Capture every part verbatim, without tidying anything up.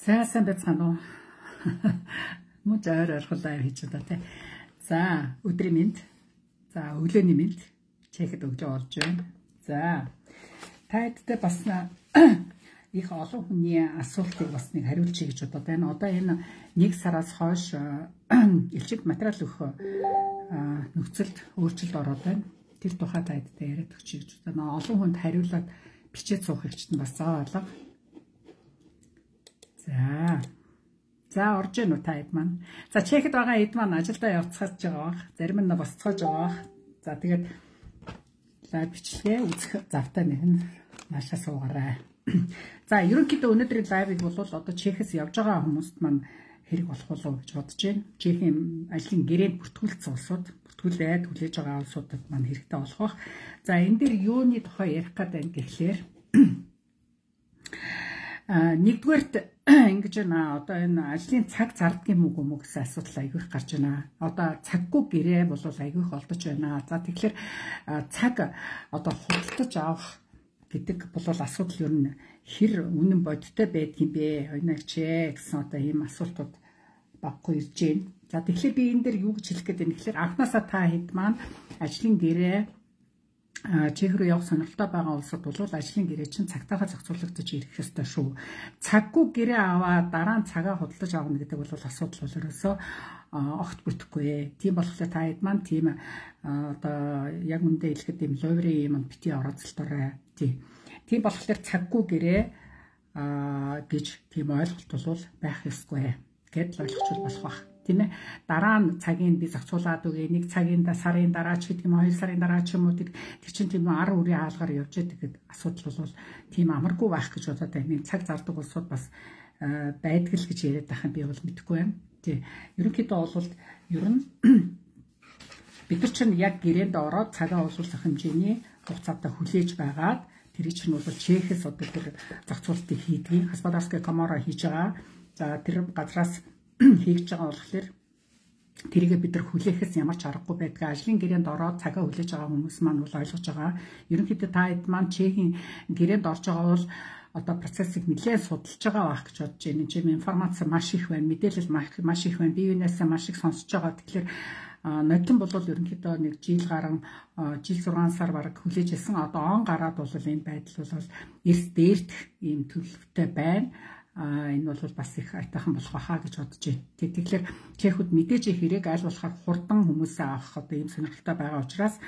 За сайн байцгаана уу. Мөн зөөр орхол лайв хийж удаа тий. За өдрийн мэнд. За өглөөний мэнд чехэд өгж олж байна. За тайдтай бас их олон хүний асуултыг бас нэг хариулчих гэж бодоод байна. Одоо энэ нэг сараас хойш элчит материал өгөх нөхцөлд өөрчлөлт ороод байна. Тэр тухай тайдтай яриад өгчих гэж бодоо. Олон хүнд хариулаад бичээд суух хэрэгчт нь бас заавал. За. За орж ийн үү та эд маань. За чехэд байгаа эд маань ажилдаа явцгааж байгаа бах. Зарим нь босцоож байгаа бах. За тэгээд лайв бичлэгээ үзэх завтай нэгэн наашаа суугаарай. За ерөнхийдөө өнөөдрийн лайвыг бол одоо чехэс явж байгаа хүмүүст маань хэрэг болох болов гэж бодож байна. Чехийн ажлын гэрээнд бүртгүүлсэн улсууд, бүртгүүлээд хүлээж байгаа улсуудад маань хэрэгтэй болох бах. За энэ дээр юуны тухай ярих гэдэг юм гэхлээр а нэгдүгээрт ингэж байна. Одоо энэ ажлын цаг зардгийн мөг мөг гэсэн асуудал айгүйх гарч байна. Одоо цаггүй гэрээ бол айгүйх олдож байна. За тэгэхээр цаг одоо худалдаж авах гэдэг бол асуудал ер нь хэр үнэн бодиттой байдгийн бэ? Ойнагч ээ гэсэн одоо ийм асуултууд баггүй ирж байна. За тэгэхээр би энэ дээр юу гэж хэлэх гээд байна гэхээр анхнаасаа та хэд маань ажлын гэрээ чех рүү явах сонирхолтой байгаа улсууд бол ажлын гэрээ чинь цагтаагаар зохицуулагдаж ирэх ёстой шүү. Цаггүй гэрээ аваад дараа нь цагаа худалдаж авах гэдэг бол асуудал бол ерөөсөө огт бүтэхгүй. Тийм болохоор та хэд маань тийм одоо яг үндэ хэлэхэд ийм ловри юм бити орооцолтой. Тийм. Тийм болохоор цаггүй гэрээ гэж тийм ойлголт бол байх ёсгүй гэдэл ойлгочвол болох бах. Тийм ээ. Дараа нь цагийн би зохицуулаад үгүй. Нэг цагийн сарын дараа ч гэдэг юм уу, хоёр сарын дараа ч юм уу тэр чинь тийм ар үрийн хаалгаар явж идэг гэдэг асуудал бол тийм амаргүй байх гэж бодоод байна. Цаг зардаг улсууд бас байдаг л гэж яриад байх юм би бол мэдэхгүй байна. Тий. Ерөнхийдөө бол ер нь бид нар чинь яг гэрээнд ороод цагаа уусуулах хэмжээний хугацаатай хүлээж байгаад тэр чинь бол чехэс одоо тэр зохицуултыг хийдгийг Хаспадарская камара хийж байгаа. За тэр газраас хийж байгаа болохоор тэрийгэ бид нар хүлээхээс ямар ч аргагүй байдаг. Ажлын гэрээнд ороод цагаа хүлээж байгаа хүмүүс маань бол ойлгож байгаа. Ерөнхийдөө та хэд маань чехийн гэрээнд орж байгаа бол одоо процессыг нэлээд судалж байгаа байх гэж бодож байна. Энэ чинь информац маш их байна. Мэдээлэл маш их байна. Бие биенээсээ маш их сонсож байгаа. Тэгэхээр нотлон бол ерөнхийдөө нэг жил гарan жил зургаан сар бараг хүлээж ирсэн. Одоо он гараад бол энэ байдал бол эрс дээрдэх ийм төлөвтэй байна. А энэ бол бас их айтайхан болох байхаа гэж бодож байна. Тэгэхээр чехүүд мэдээж хэрэг аль болохоор хурдан хүмүүсээ авах одоо ийм сонирхолтой байгаа учраас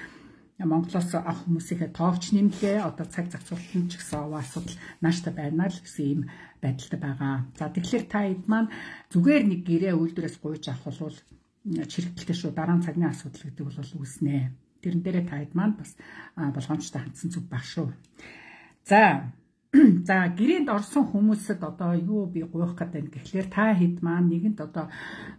Монголоос авах хүмүүсийнхээ тоогч нэмлээ одоо цаг зохицуулалтын ч гэсэн асуудал нааштай байна л гэсэн ийм байдалтай байгаа. За тэгэхээр та хэд маань зүгээр нэг гэрээ үйлдвэрээс гуйж авах бол чирэгдэлтэй шүү. Дараа нь цагны асуудал гэдэг бол үүснэ. Тэрэн дээрээ та хэд маань бас болгоомжтой хандсан зүг баг шүү. За За гэрээнд орсон хүмүүсэд одоо юу би гуйх гэдэг юм гэхлээр та хэд маань нэгэнт одоо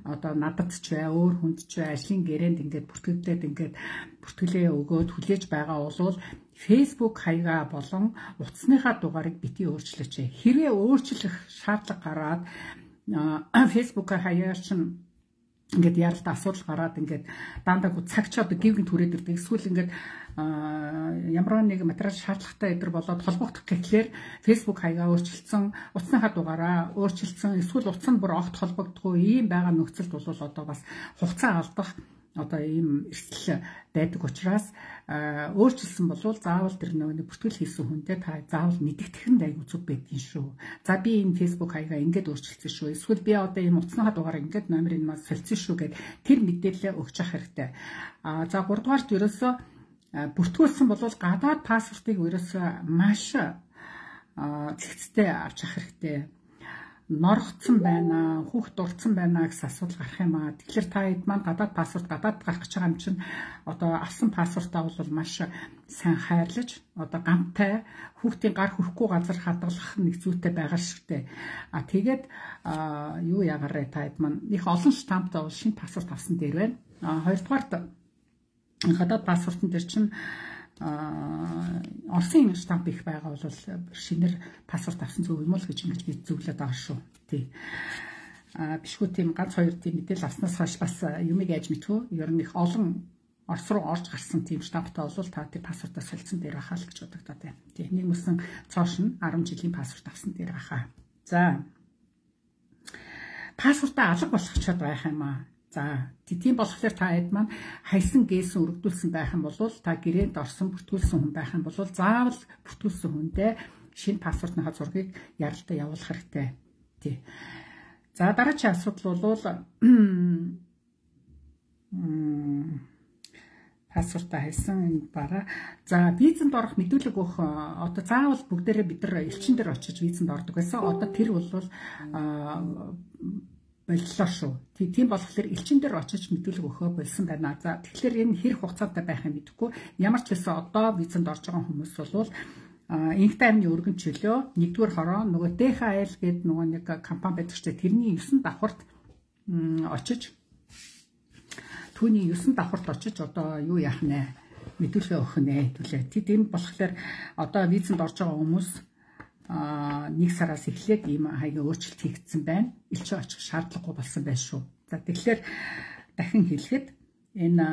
одоо надад ч бай өөр хүнд ч бай ажлын гэрээнд ингээд бүртгэлдээд ингээд бүртгэлээ өгөөд хүлээж байгаа бол Facebook хаягаа болон утасныхаа дугаарыг бити өөрчлөөч. Хэрвээ өөрчлөх шаардлага гараад Facebook хаягаар чинь ингээд яралтай асуудал гараад ингээд даандаа цаг ч одоо гівгэн түрээд ирдэг. Эсвэл ингээд ямар нэг материал шаардлагатай эдэр болоод холбогдох гэхлээр Facebook хаягаа өөрчилсөн, утасныхаа дугаараа өөрчилсөн, эсвэл утас нь бүр огт холбогдохгүй ийм байгаа нөхцөлд бол одоо бас хугацаа алдах одоо ийм эрсдэл байдаг учраас өөрчилсөн бол заавал тэр нэг бүртгэл хийсэн хүнтэй та заавал мэдэгдэх нь айгүй зүг байдгийн шүү. За би энэ Facebook хаягаа ингээд өөрчилсөн шүү. Эсвэл би одоо ийм утасныхаа дугаараа ингээд номерыг маа солилцсон шүү гэд тэр мэдээлэлээ өгч явах хэрэгтэй. А за гуравдугаарт ерөөсөө бүртгүүлсэн бол гадаад паспортыг ерөөсөө маш зэгцтэй авч явах хэрэгтэй. Норгоцсон байна, хүүхд дурдсан байна гэсэн асуудал гарах юм аа. Тэгэхээр та хэд маань гадаад паспорт гадаад гарах гэж байгаа юм чинь одоо авсан паспортаа бол маш сайн хайрлаж одоо гамтай хүүхдийн гар хүрхгүй газар хадгалах нэг зүйтэй байгаа шигтэй. А тэгээд юу ягараа та хэд маань их олон штамптай бол шинэ паспорт авсан дээр байна. А хоёрдугаарт гадаад паспортын дээр чинь Оросын штамп их байгаа бол шинээр паспорт авсан зөв юм уу гэж ингэж би зөвлөд байгаа шүү. Тий. А бишгүй тийм ганц хоёр тийм мэдээлэл авснаас хойш бас юмыг яаж мэдхүү? Ер нь их олон Орос руу орж гарсан тийм штамптай бол та тэр паспортаа солилцсон дээр байхаа л гэж бодогдоод байна. Тий. Нэг мөсөн цоош нь арван жилийн паспорт авсан дээр байхаа. За паспортаа алга болгочиход байх юм аа. За тийм болохоор та хэд маань хайсан гээсэн өргөдүүлсэн байх юм бол та гэрээнд орсон бүртгүүлсэн хүн байх юм бол заавал бүртгүүлсэн хүндээ шинэ паспортныхаа зургийг яралтай явуулах хэрэгтэй. Тий. За дараагийн асуудал бол паспортаа хайсан бараа. За визэнд орох мэдүүлэг өгөх одоо заавал бүгдээрээ бид нар элчин дээр очиж визэнд ордог байсан. Одоо тэр бол боллоо шүү. Тийм болохоор элчин дээр очиж мэдүүлэг өгөхөө болсон байна. За тэгэхээр энэ хэр хугацаатай байх юм мэдэхгүй. Ямар ч байсан одоо визэнд орж байгаа хүмүүс бол инх таймны өргөн чөлөө нэгдүгээр хороо нөгөө дэ ха эл гэдэг нөгөө нэг компани байдаг ч тэрний есөн давхарт очиж түүний есөн давхарт очиж одоо юу яах нэ мэдүүлгээ өгөх нэ төлөө. Тийм болохоор одоо визэнд орж байгаа хүмүүс нэг сараас эхлээд ийм хаягийн өөрчлөлт хийгдсэн байна. Элчин очих шаардлагагүй болсон байна шүү. За тэгэхээр дахин хэлэхэд энэ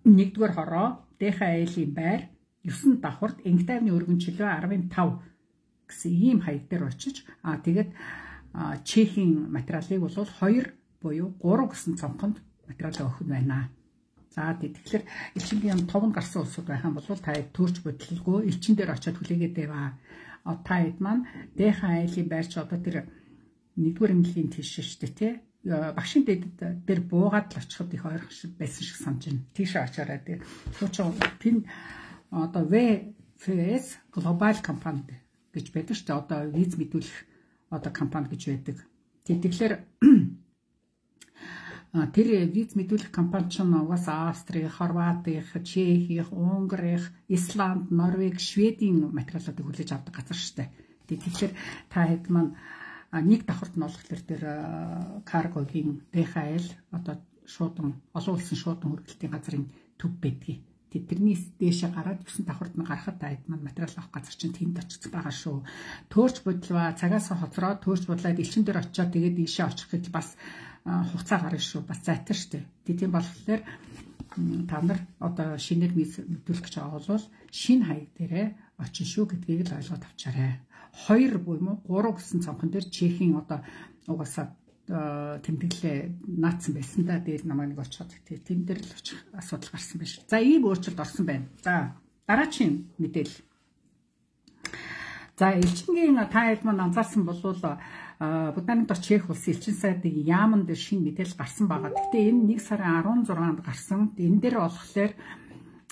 нэгдүгээр хороо дэ ха элийн байр есөн давхарт инх таймны өргөн чөлөө арван тав гэсэн ийм хаяг дээр очиж аа тэгээд чехийн материалыг бол хоёр буюу гурав гэсэн цонхонд материал өгөх нь байна. За тэгэхээр элчингийн товн гарсан улсууд байх юм бол та төрч бодлого элчин дээр очиод хүлээгээд байваа. Та хэд маань дэ ха элийн байрч одоо тэр нэгдүгээр эмнэлгийн тийш шүү дээ тий. Багшийн дэд дээр буугаад л очиход их ойрхон байсан шиг санаж байна. Тийшээ очиороо тий. Суучин тэн одоо вэ эф эс глобал компани гэж байдаг шүү дээ. Одоо виз мэдүүлэх одоо компани гэж байдаг. Тэгэхээр тэр виз мэдүүлэх компани ч угаасаа Австри, Хорвати, Чех, Унгari, Исланд, Норвег, Шведийн материалуудыг хүлээж авдаг газар шүү дээ. Тэгэхээр та хэд маань нэг давхарт нь болохоор тэр каргогийн дэ ха эл одоо шуудан олон улсын шуудан хөргөлтийн газрын төв байдгийг. Тэрнээс дээшээ гараад есөн давхарт нь гарахад та хэд маань материал авах газар чинь тэнд очиж байгаа шүү. Төөрч бодлоо цагаас хоцроо төөрч бодлоод элчин дээр очиод тэгээд ийшээ очих гэж бас хугацаа гарна шүү. Бас зайтар штэ. Тийм болохоор та нар одоо шинээр мэдүүлэх гэж байгаа бол шинэ хаяг дээрээ очин шүү гэдгийг л ойлгоод авчаарай. Хоёр буюу гурав гэсэн цонхон дээр чехийн одоо угаасаа тэмдэглэлээ наацсан байсан да дээр намайг нэг очиод тийм дээр л очих асуудал гарсан байна шүү. За ийм өөрчлөлт орсон байна. За дараагийн мэдээлэл. За элчингийн та хэд маань анзаарсан бол Будапешт Чех улсын элчин сайдын яаман дээр шинэ мэдээлэл гарсан байгаа. Гэхдээ энэ нэг сарын арван зургаанд гарсан. Энэ дээр болохоор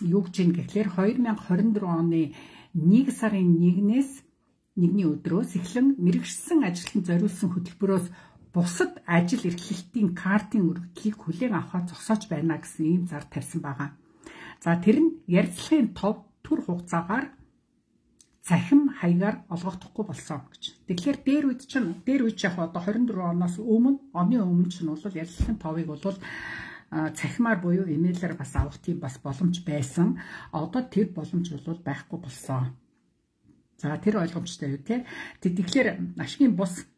юу гэж юм гэхлээр хоёр мянга хорин дөрөв оны нэг сарын нэгнээс нэгний өдрөөс эхлэн мэрэгшсэн ажилтнанд зориулсан хөтөлбөрөөс бусад ажил эрхлэлтийн картын өргөдлийг хүлээн авахаа зогсоож байна гэсэн ийм зар тавьсан байгаа. За тэр нь ярилцлагын тов түр хугацаагаар цахим хаягаар олгогдохгүй болсон гэж. Тэгэхээр дээр үед чинь дээр үед яг одоо хорин дөрөв оноос өмнө оны өмнө чинь бол ярилцлагын товыг бол цахимаар буюу имэйлээр бас авах тийм бас боломж байсан. Одоо тэр боломж бол байхгүй болсон. За тэр ойлгомжтой юу те. Тэгэхээр ашигын бус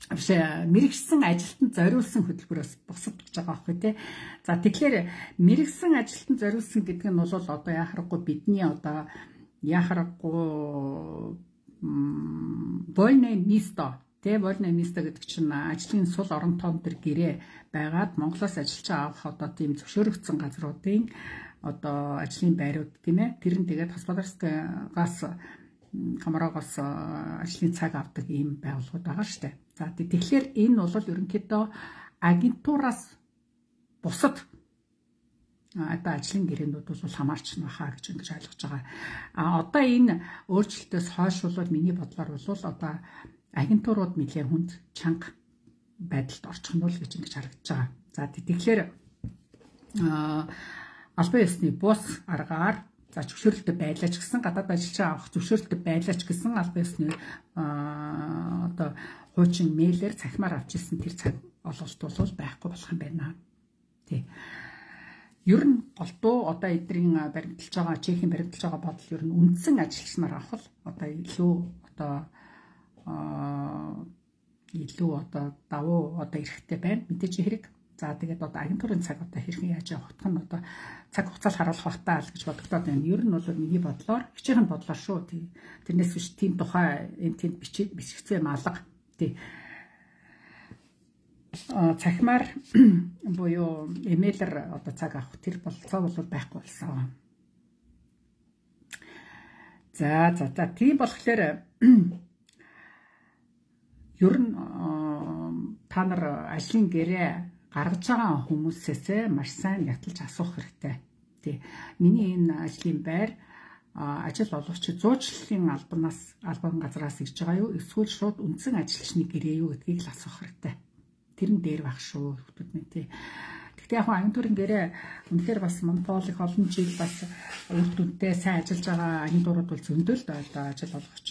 биш мэрэгсэн ажилтнанд зориулсан хөтөлбөрөөс бусад гэж байгаа байхгүй те. За тэгэхээр мэрэгсэн ажилтнанд зориулсан гэдэг нь бол одоо яхахгүй бидний одоо яхахгүй вольное место тэ вольное место гэдэг чинь ажлын сул орон тоон төр гэрээ байгаад Монголоос ажилч авах одоо тийм зөвшөөрөгдсөн газруудын одоо ажлын байрууд тийм ээ тэр нь тэгээд Хосподарскаас Камарагаас ажлын цаг авдаг ийм байгууллагууд байгаа шүү дээ. За тэгэхээр энэ бол ерөнхийдөө агентураас бусад одоо ажлын гэрээнүүд бол хамаарч нахаа гэж ингэж ойлгож байгаа. А одоо энэ өөрчлөлтөөс хойш бол миний бодлоор бол одоо агентурууд нэлээд хүнд чанга байдалд орчих нь бол гэж ингэж харагдаж байгаа. За тэгэхээр албан ёсны бус аргаар за зөвшөөрөлтөй байлаач гэсэн гадаад ажилчаа авах зөвшөөрөлтөй байлаач гэсэн албан ёсны одоо хуучин мэйлээр цахимаар авч ирсэн тэр цаг олголт бол байхгүй болох юм байна. Тий. Ер нь голдуу одоо эдрийн баримталж байгаа Чехийн баримталж байгаа бодол ер нь үндсэн ажилч нар авах одоо илүү одоо илүү одоо давуу одоо эрэхтэй байна. Мэдээж хэрэг. За тэгээд одоо агентурын цаг одоо хэрхэн яаж явах нь одоо цаг хугацаал харуулах багтаа л гэж бодогдоод байна. Ер нь бол миний бодлоор хичээхэн бодлоор шүү. Тэрнээс биш тийм тухай энэ тэнд бичиж бичигдсэн юм алга. Тий. цахимаар буюу эмээлэр одоо цаг авах тэр болцоо бол байхгүй болсон. За за за тийм болохоор ер нь та нар ажлын гэрээ гаргаж байгаа хүмүүсээс маш сайн яталж асуух хэрэгтэй. Тий. Миний энэ ажлын байр ажил олгогч зуучлалын албанаас албан газраас ирж байгаа юу? Эсвэл шууд үндсэн ажилчны гэрээ юу гэдгийг л асуух хэрэгтэй. Тэр нь дээр байх шүү хүмүүс минь тий. Гэхдээ яг агентурын гэрээ үнэхээр бас монополь их олон жил бас үр дүнтэй сайн ажиллаж байгаа агентурууд бол зөндөл л одоо ажил олгогч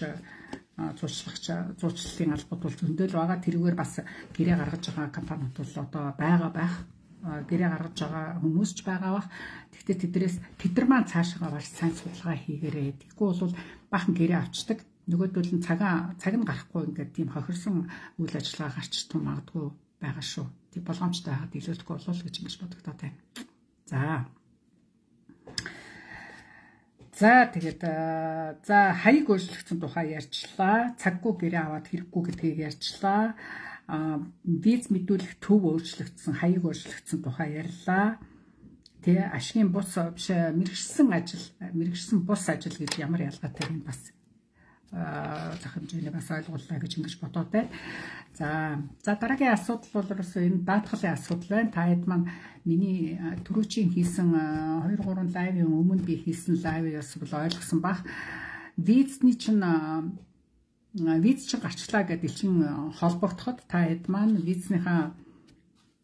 зуучлагч зуучлалын албад бол зөндөл байгаа. Тэрүүгээр бас гэрээ гаргаж байгаа компаниуд бол одоо байгаа байх. Гэрээ гаргаж байгаа хүмүүс ч байгаа бах. Гэхдээ тэдрээс тэдэр маань цаашаа маш сайн судалгаа хийгээрээ. Тэгэхгүй бол бахан гэрээ авчдаг. Нөгөөдөл нь цагаан цаг нь гарахгүй ингээд тийм хохирсон үйл ажиллагаа гарч тун магадгүй байгаа шүү. Тэг болгоомжтой байгаад илүүлэхгүй болов гэж ингэж бодогдоод байна. За. За тэгээд за хаяг өөрчлөгдсөн тухай ярьчлаа. Цаггүй гэрээ аваад хэрэггүй гэдгийг ярьчлаа. Виз мэдүүлэх төв өөрчлөгдсөн, хаяг өөрчлөгдсөн тухай ярьлаа. Тэ ашигын бус биш мэрэгчсэн ажил, мэрэгчсэн бус ажил гэж ямар ялгаатай юм бас зах хэмжээний бас ойлгууллаа гэж ингэж бодоод байна. За за дараагийн асуудал бол ерөөсөө энэ даатгалын асуудал байна. Та хэд маань миний түрүүчийн хийсэн хоёр гурван лайвын өмнө би хийсэн лайвээс бол ойлгосон бах. Визний чинь виз чинь гарчлаа гэдэг чинь холбогдоход та хэд маань визнийхаа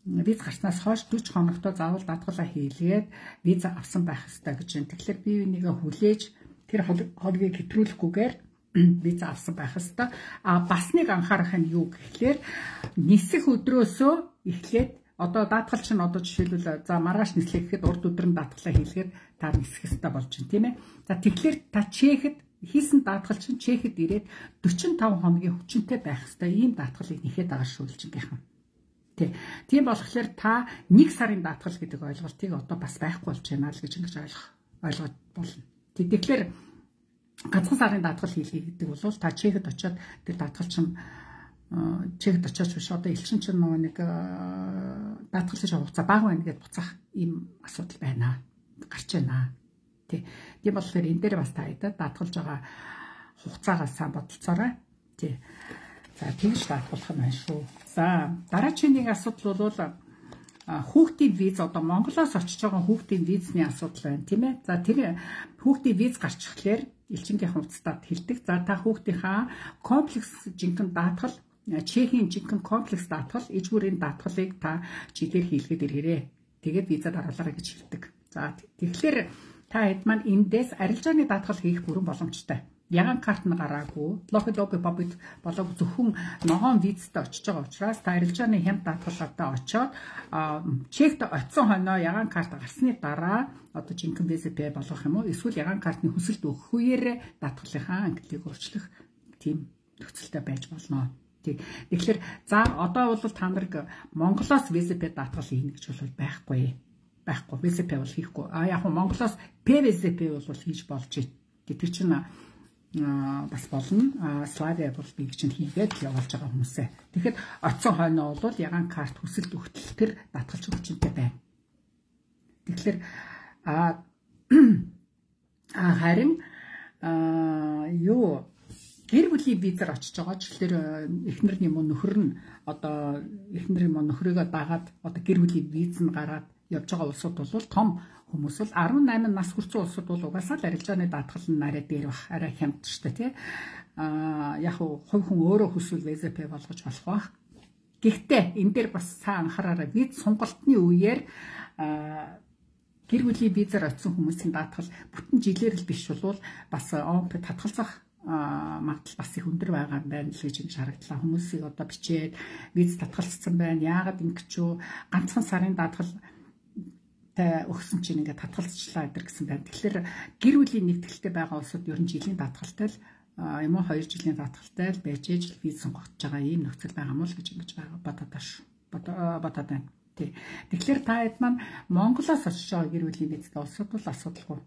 виз гарснаас хойш дөрвөн хоногтой заавал даатгалаа хийлгээд виз авсан байх ёстой гэж байна. Тэгэхээр бие бинийгээ хүлээж тэр хоолгийг хэтрүүлэхгүйгээр виз авсан байх ёстой. А бас нэг анхаарах нь юу гэхлээр нисэх өдрөөсөө эхлээд одоо даатгал чинь одоо жишээлбэл за маргааш нислэх гэхэд урд өдөр нь даатгалаа хийлгээд та нисэх ёстой болж байна тийм ээ. За тэгэхээр та чехэд хийсэн даатгал чинь чехэд ирээд дөрвөн таван хоногийн хүчинтэй байх ёстой. Ийм даатгалыг нэхэд байгаа шүүлжингийнхан. Тий. Тийм болохоор та нэг сарын даатгал гэдэг ойлголтыг одоо бас байхгүй болж байна л гэж ингэж ойлгох ойлгож болно. Тэгэхээр ганцхан сарын даатгал хийлгээ гэдэг бол та чехэд очиод тэр даатгал чинь чехэд очиж биш одоо элчин чинь нөгөө нэг даатгал хийж хугацаа бага байна гэдээ буцаах ийм асуудал байна. Гарч байна. Тий. Тийм болохоор энэ дээр бас та хэдэ даатгалж байгаа хугацаагаа сайн бодолцоорой. Тий. За тэгж даатгалах юм байна шүү. За дараагийн нэг асуудал бол хүүхдийн виз одоо Монголоос очиж байгаа хүүхдийн визний асуудал байна тийм ээ. За тэр хүүхдийн виз гарчихлаар элчингийн хувцастад хэлдэг. За та хүүхдийнхаа комплекс жинхэнэ даатгал Чехийн жинхэнэ комплекс даатгал ижгүүрийн даатгалыг та жилээр хийлгээд ирээрээ. Тэгээд визад оруулаарай гэж хэлдэг. За тэгэхээр та хэд маань эндээс арилжааны даатгал хийх бүрэн боломжтой. Яган карт нь гараагүй, лохид лобби боббит болоог зөвхөн ногоон визтэй очиж байгаа учраас та арилжааны хямд даатгалаатай очоод чект очисон хойноо яган карт гарсны дараа одоо жинхэнэ визэпэ болгох юм уу? Эсвэл яган картны хүсэлт өгөх үеэр даатгалынхаа ангиллыг өөрчлөх тийм нөхцөлтэй байж болно. Тэгэхээр за одоо бол та нарыг Монголоос визэпэ даатгал хийнэ гэж бол байхгүй. Байхгүй визэпэ бол хийхгүй. А яг нь Монголоос пвизэпэ бол хийж болж байна. Тэр чинь бас болно. Славиа бол би чинь хийгээд явуулж байгаа хүмүүсээ. Тэгэхэд оцсон хойноо бол яган карт хүсэлт өгтөл төр даатгалч хүчинтэй байна. Тэгэхээр а харин юу гэр бүлийн визээр очиж байгаа ч тэгэхээр эхнэр юм уу нөхөр нь одоо эхнэр юм уу нөхрийгөө дагаад одоо гэр бүлийн виз нь гараад явж байгаа улсууд бол том хүмүүс бол арван найман нас хүрсэн улсууд бол угаасаа л арилжааны даатгал нь арай дээр бах арай хямд ч тий а яг хувь хүн өөрөө хүсвэл визэпэ болгож болох бах. Гэхдээ энэ дээр бас сайн анхаараарай виз сонголтны үеэр гэр бүлийн визээр очисон хүмүүсийн даатгал бүтэн жилээр л биш бол бас ОМП татгалзах магадлал бас их өндөр байгаа юм байна л гэж ингэж харагдлаа. Хүмүүсийг одоо бичээд виз татгалцсан байна. Яагаад ингэж юу ганцхан сарын даатгал та өгсөн чинь ингээд татгалцчлаа гэдэг гэсэн байна. Тэгэхээр гэр бүлийн нэгтгэлтэй байгаа улсууд ер нь жилийн даатгалтай л юм уу хоёр жилийн даатгалтай л байж ээж виз сонгогдож байгаа ийм нөхцөл байгаа мó л гэж ингэж бодоод тааш бодоод байна. Тэгэхээр та хэд маань Монголоос очиж байгаа гэр бүлийн визтэй улсууд бол асуудалгүй.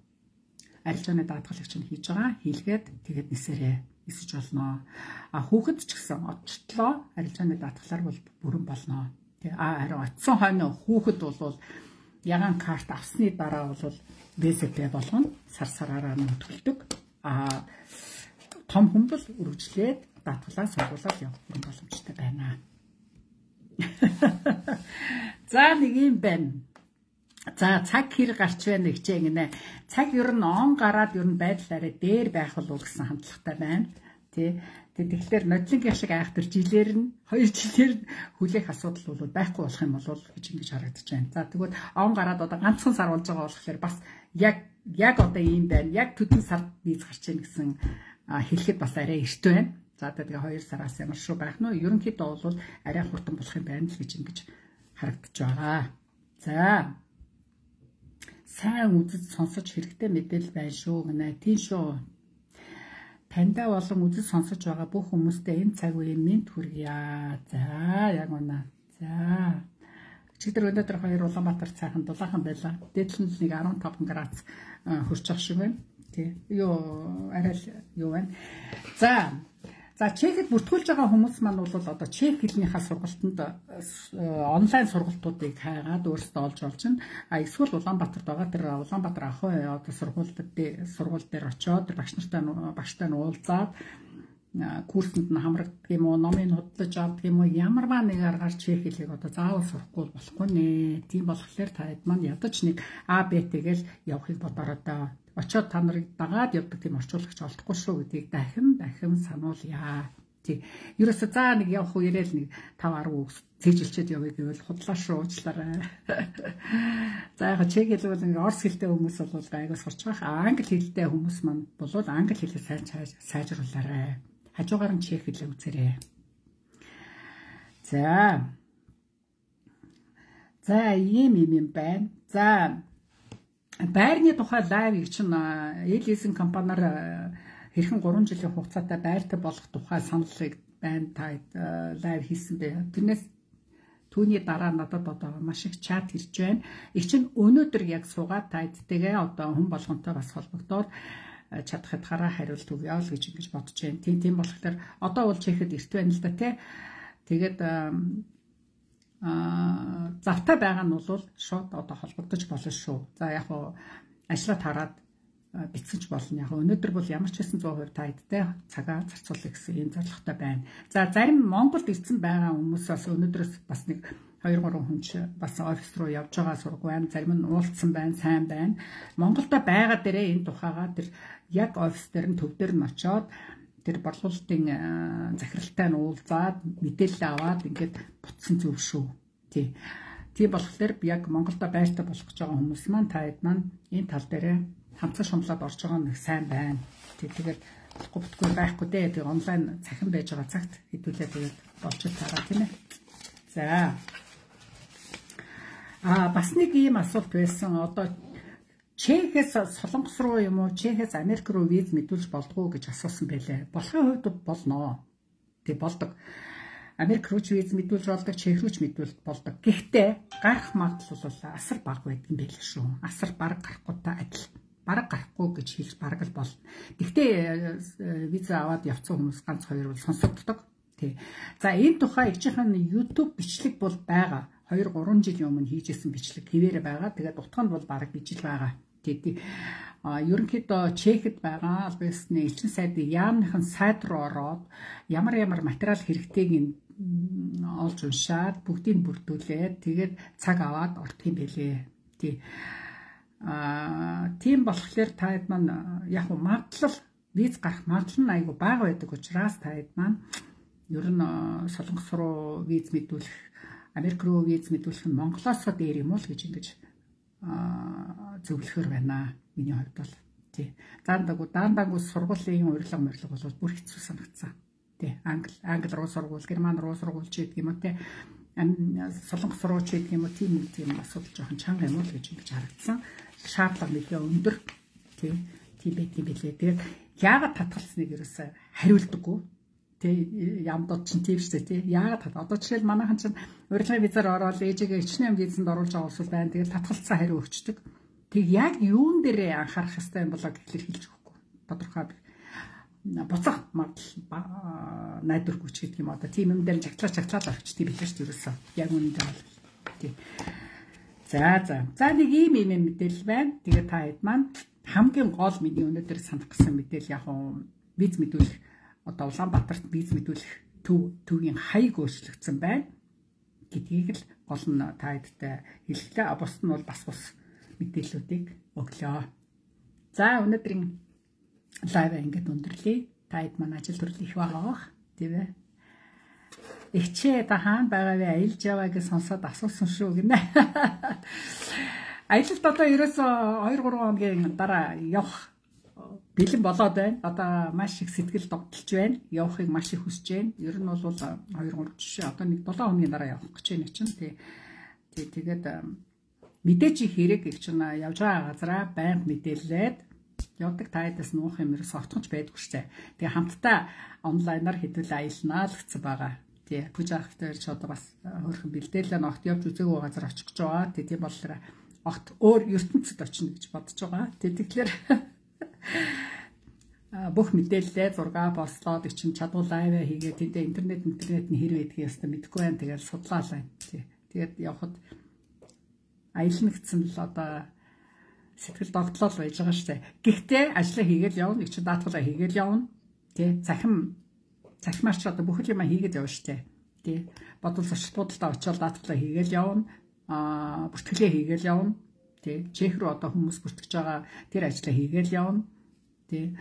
Арилжааны даатгалыг чинь хийж байгаа. Хийлгээд тэгээд нисээрээ нисэж болно. А хүүхэд ч гэсэн очтлоо арилжааны даатгалаар бол бүрэн болно. Тэ а харин очсон хойно хүүхэд бол ягаан карт авсны дараа бол ВЗП болгоно сар сараараа нөтгөлдөг. А том хүн бол үргэлжлээд даатгалаа сургуулаад явах юм боломжтой байна. За нэг юм байна. За цаг хэр гарч байна гэж ингэнэ. Цаг ер нь он гараад ер нь байдлаараа дээр байх болов гэсэн хандлагатай байна. Тэ. Тэгэхээр нодлонгийн шиг айхтар жилээр нь хоёр жилээр хүлээх асуудал бол байхгүй болох юм бол гэж ингэж харагдаж байна. За тэгвэл он гараад одоо ганцхан сар болж байгаа болохоор бас яг яг одоо ийм байна. Яг төдөн сард виз гарч ийн гэсэн хэлэхэд бас арай эрт байна. За тэгээ хоёр сараас ямар шүү байх нь вэ? Ерөнхийдөө бол арай хурдан болох юм байна л гэж ингэж харагдаж байгаа. За сайн үзэж сонсож хэрэгтэй мэдээлэл байна шүү гэнэ. Тийм шүү. Таньда болон үзэж сонсож байгаа бүх хүмүүстээ энэ цаг үеийн мэд хүргье. За яг унаа. За. Чигдэр өнөөдөр хоёр Улаанбаатар цайхан дулаахан байлаа. Дээдлэн нэг арван таван градус хүрч байгаа шиг байна. Тий. Юу арай юу байна. За. За Чехэд бүртгүүлж байгаа хүмүүс маань бол одоо чех хэлнийхаа сургалтанд онлайн сургалтуудыг хайгаад өөрсдөө олж олж байна. А эсвэл Улаанбаатарт байгаа тэр Улаанбаатар ахуй одоо сургуулиуд сургууль дээр очиод тэр багш нартай багштай нь уулзаад курсанд нь хамрагддаг юм уу, номыг худалдаж авдаг юм уу, ямарваа нэг аргаар чех хэлийг одоо заавал сурахгүй болохгүй нэ. Тийм болохоор таад маань ядаж нэг А Б Т-гээл явахыг бодороо доо. Очоод та нарыг дагаад явдаг тийм орчуулагч олдохгүй шүү гэдгийг дахин дахин сануулъя. Тий. Ерөөсө за нэг явах уу яриад нэг тав арав цэжилчээд явъя гэвэл худлаа шүү уучлаарай. За яг чех хэл бол ингээ орс хэлтэй хүмүүс бол айгуу сурч байгаа. Англи хэлтэй хүмүүс маань бол англи хэлээ сайн сайжруулаарай. Хажуугаар нь чех хэлээ үзээрэй. За. За ийм юм юм байна. За байрны тухай лайв чинь эл лизинг компаниар хэрхэн гурван жилийн хугацаатай байртай болох тухай саналыг байна та лайв хийсэн бэ. Тэрнээс түүний дараа надад одоо маш их чат ирж байна. Их чинь өнөөдөр яг суугаад тайдтэйгээ одоо хүн болгонтой бас холбогдоод чадхад гараа хариулт өгье л гэж ингэж бодож байна. Тийм тийм болохоор одоо бол чехэд эрт байна л да тий. Тэгээд а завтай байгаа нь бол шууд одоо холбогдож болно шүү. За яг хуу ажлаа хараад бицгэж болно. Яг өнөөдөр бол ямар ч хэсэн сто процент тайдтай цагаа зарцуулах гэсэн юм зорилготой байна. За зарим Монголд ирсэн байгаа хүмүүс бас өнөөдрөөс бас нэг хоёр гурван хүн ч бас офис руу явж байгаа сураг байна. Зарим нь уулзсан байна, сайн байна. Монголдо байгаа дээрээ энэ тухайгаа тэр яг офис дээр нь төв дээр нь очоод тэр борлуулалтын захиралтай нь уулзаад мэдээлэл аваад ингээд бутсан зөв шүү. Тий. Тийм болохоор яг Монголдо байртай болох гэж байгаа хүмүүс маань таад маань энэ тал дээр хамцаа шумлаад орж байгаа нь сайн байна. Тий. Тэгээд болохгүй бүтгүй байхгүй дээ. Тэгээ онлайн цахим байж байгаа цагт хэдүүлээ тэгээд болчих тараа тийм ээ. За. А бас нэг ийм асуулт байсан. Одоо Чехээс Солонгос руу юм уу, Чехээс Америк руу виз мэдүүлж болдгоо гэж асуусан байлээ. Болохын хувьд болно. Тэг болдог. Америк руу ч виз мэдүүлж болдог, Чех руу ч мэдүүлж болдог. Гэхдээ гарах магадлал бол асар бага байдаг юм байлээ шүү. Асар бараг гарахгүйтай адил. Бараг гарахгүй гэж хэлж бараг л болно. Гэхдээ виз аваад явцсан хүмүүс ганц хоёр бол сонсогддог. Тий. За энэ тухай ижийнхэн YouTube бичлэг бол байгаа. хоёр гурван жилийн өмнө хийжсэн бичлэг хэвээр байгаа. Тэгээд утганд бол бараг bijil байгаа. Тэгээд ерөнхийдөө Чехэд байгаа албасны элчин сайдын яамныхан сайд руу ороод ямар ямар материал хэрэгтэйг олж уншаад бүгдийг бүрдүүлээд тэгээд цаг аваад ордог юм байлээ. Тий. Аа тийм болохоор таад маань яг нь магадлал виз гарах магадлал нь айгүй бага байдаг учраас таад маань ер нь Солонгос руу виз мэдүүлэх, Америк руу виз мэдүүлэх нь Монголоос дээр юм уу л гэж ингэж зөвлөхөр байна. Миний хувьд бол тий. Даандаг даандаг сургуулийн урилга мөрлөг бол бүр хэцүү санагдсан. Тий. Англи англи руу сургууль, герман руу сургууль ч гэдэг юм уу тий. Солонгос руу ч гэдэг юм уу тийм тийм асуудал жоохон чанга юм уу л гэж ингэж харагдсан. Шаардлага нэлээд өндөр тий. Тийм байх юм билээ. Тэгээд яагаад татгалцсныг ерөөсөө хариулдаггүй. Тэ ямдод чинь тийм шүү дээ тий. Яагаад одоо жишээл манайхан чинь урилгын визээр ороод ээжигээ ичнээн визэнд оруулж байгаа улс байна. Тэгээд татгалцсан хариу өгчдөг. Тэг яг юун дээрээ анхаарах хэрэгтэй юм болоо гэхлээр хэлж өгөхгүй. Тодорхой буцах магадлал найдвар хүч гэдэг юм одоо тийм юм дээр жагтлаа жагтлаа авчдгийг бид ч ерөөсөө яг үнэндээ бол тий. За за. За нэг ийм ийм мэдээлэл байна. Тэгээ та хэд маань хамгийн гол миний өнөөдөр санах гэсэн мэдээлэл яг нь виз мэдүүлэх одоо Улаанбаатарт виз мэдүүлэх төв төвийн хаяг өөрчлөгдсөн байна гэдгийг л гол нь та хэдтэй хэллээ. Бус нь бол бас бус мэдээллүүдийг өглөө. За өнөөдрийн лайв ингээд өндөрлөе. Та хэд маань ажил төрөл их байгаа тийм ээ. Ихчээ та хаана байгаа вэ? Аялж яваа гэж сонсоод асуусан шүү гинэ. Аялалд одоо ерөөсөө хоёр гурван хоногийн дараа явах бэлэн болоод байна. Одоо маш их сэтгэл догдолж байна. Явахыг маш их хүсэж байна. Ер нь бол хоёр гурав жишээ одоо нэг долоо хоногийн дараа явах гэж байна чинь. Тий. Тий тэгээд мэдээж их хэрэг их чинь явж байгаа газараа байнга мэдээлээд явдаг таадаас нуух юм ерөөс отгоч байдгүй шээ. Тэгээ хамтдаа онлайнаар хэдүүл аялнаа л гэсэн байгаа. Тий. Пүжахтай ч одоо бас хөрхөн бэлдээлээ огт явж үзээгүй газар очих гэж байгаа. Тий тийм болохоор огт өөр ертөнцид очино гэж бодож байгаа. Тий тэгэхээр бүх мэдээлэлээ зураг постлоод ичин чадвал лайв хийгээд тэндээ интернет интернет нь хэр байдгийг ястаа мэдэхгүй байна. Тэгээд судлаалаа. Тий. Тэгээд явхад аялна гэсэн л одоо сэтгэл догтлол байж байгаа шүү дээ. Гэхдээ ажлаа хийгээл явна, их ч даатгалаа хийгээл явна. Тий. Захим захимаар ч одоо бүх юм хийгээд явна шүү дээ. Тий. Бодол зочд буудалтай очиод даатгалаа хийгээл явна. Аа, бүртгэлээ хийгээл явна. Тий. Чех рүү одоо хүмүүс бүртгэж байгаа тэр ажлаа хийгээл явна. Тий.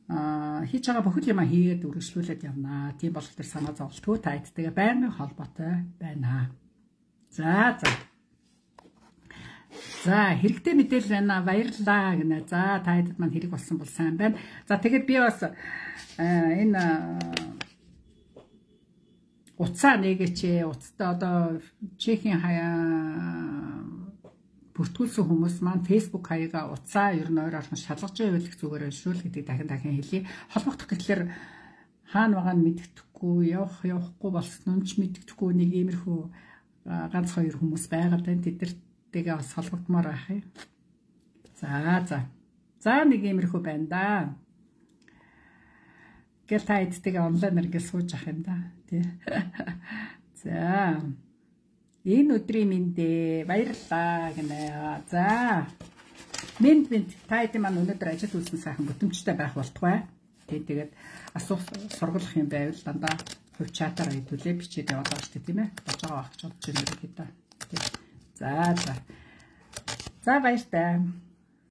Аа, хийж байгаа бүх юм хийгээд үргэлжлүүлээд явнаа. Тийм болох төр санаа зовлтгүй та хэдтэйгээ байнгын холбоотой байна. За за. За хэрэгтэй мэдээлэл байна. Баярлалаа гинэ. За та хэдэд маань хэрэг болсон бол сайн байна. За тэгээд би бас энэ уцаа нэгэчээ. Уцтай одоо Чехийн хаяа бүртгүүлсэн хүмүүс маань Facebook хаягаа уцаа ер нь ойр орхон шалгаж явуулах зүгээр шүү л гэдэг дахин дахин хэлье. Холбогдох гэхэлэр хаана байгаа нь мэддэхгүй, явах явахгүй болсон нь ч мэддэхгүй нэг иймэрхүү ганц хоёр хүмүүс байгаад байна. Тэдэртэйгээ бас холбогдмоор байх юм. За за. За нэг иймэрхүү байна да. Гэл та эдтэйгээ онлайнаар ингэ сууж ах юм да. Тий. За. Энэ өдрийн мэндэ баярлалаа гинэ. За. Мэнд мэнд та хэд маань өнөөдөр ажил үйлсэн сайхан бүтэмжтэй байх болтугай. Тий тэгээд асуух сургалах юм байвал дандаа хувь чатаар хэдүүлээ бичээд яваад байгаа шүү дээ тийм ээ. Болж байгаа байх гэж бодож байна гэдэг. За за. За баяр таа.